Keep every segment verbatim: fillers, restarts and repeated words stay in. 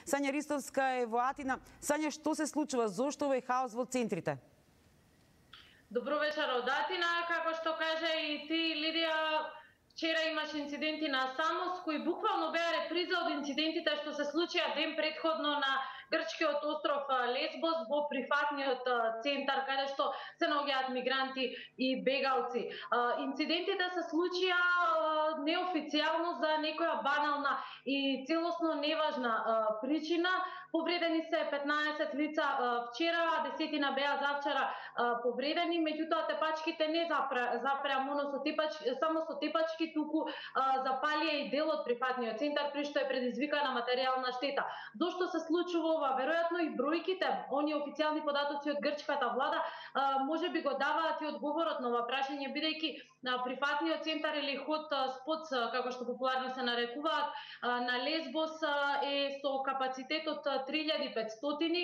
Сања Ристовска е во Атина. Сања, што се случува? Зошто овој хаос во центрите? Добро вечер од Атина. Како што кажа и ти, Лидија, вчера имаше инциденти на Самос, кои буквално беа реприза од инцидентите што се случија ден претходно на грчкиот остров Лесбос во прифатниот центар, каде што се наоѓаат мигранти и бегалци. Инцидентите се случија неофицијално за некоја банална и целосно неважна причина. Повредени се петнаесет лица вчера, десетина беа завчера повредени, меѓутоа тепачките не запреа моно со тепачки, само со тепачки, туку запалија и дел од прифатниот центар, при што е предизвикана материјална штета. Зошто се случува ова? Веројатно и бројките, оние официјални податоци од грчката влада, може би го даваат и одговорот на ова прашање, бидејќи прифатниот центар или хот спот, како што популарно се нарекуваат, на Лесбос е со капацитет од три илјади и петстотини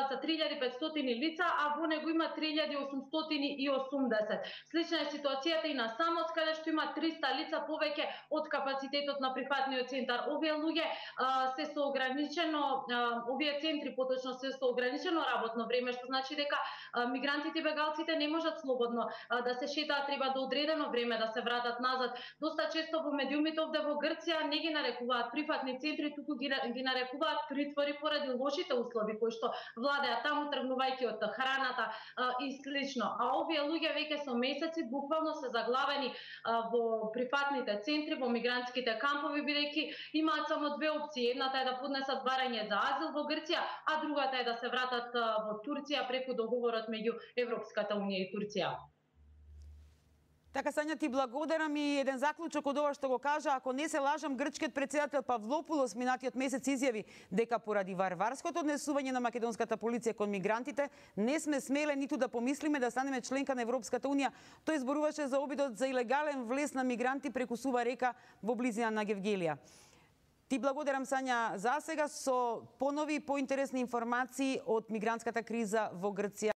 за три илјади и петстотини лица, а во него има три илјади осумстотини и осумдесет. Слична е ситуацијата и на Самос, каде што има триста лица повеќе од капацитетот на прифатниот центар. Овие луѓе се со ограничено, овие центри поточно се со ограничено работно време, што значи дека мигрантите и бегалците не можат слободно да се шетаат, треба до одредено време да се вратат назад. Доста често во медиумите овде во Грција не ги нарекуваат прифатни центри, туку ги, ги нарекуваат притвори поради лошите услови кои што владеа таму, тргнувајќи од храната и слично. А овие луѓе веќе со месеци буквално се заглавени во прифатните центри, во мигрантските кампови, бидејќи имаат само две опции. Едната е да поднесат барање за азил во Грција, а другата е да се вратат во Турција преку договорот меѓу Европската унија и Турција. Така, Сања, ти благодарам и еден заклучок од ова што го кажа. Ако не се лажам, грчкиот председател Павлопулос минатиот месец изјави дека поради варварското однесување на македонската полиција кон мигрантите не сме смеле ниту да помислиме да станеме членка на Европската унија. Тој зборуваше за обидот за илегален влез на мигранти преку Сува река во близина на Гевгелија. Ти благодарам, Сања, за сега со понови поинтересни информации од мигрантската криза во Грција.